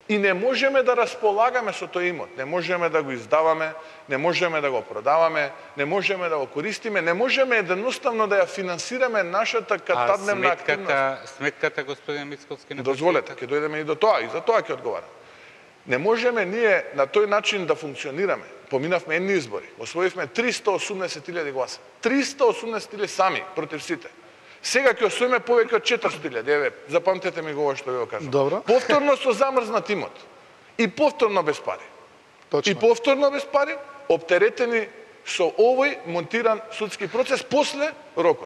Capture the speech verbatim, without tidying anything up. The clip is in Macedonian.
И не можеме да располагаме со тој имот, не можеме да го издаваме, не можеме да го продаваме, не можеме да го користиме, не можеме едноставно да ја финансираме нашата катадневна активност. А сметката, сметката, господин Мицковски, не дозволете, ќе дојдеме и до тоа, и за тоа ќе одговарам. Не можеме ние на тој начин да функционираме. Поминавме едни избори, освоивме триста и осумдесет илјади гласа. триста и осумдесет илјади сами против сите. Сега ќе освоиме повеќе од четиристотини илјади, еве, запамтете ми го ова што ви го кажам. Добро. Повторно со замрзнат имот. И повторно без пари. Точно. И повторно без пари, оптеретени со овој монтиран судски процес после рокот.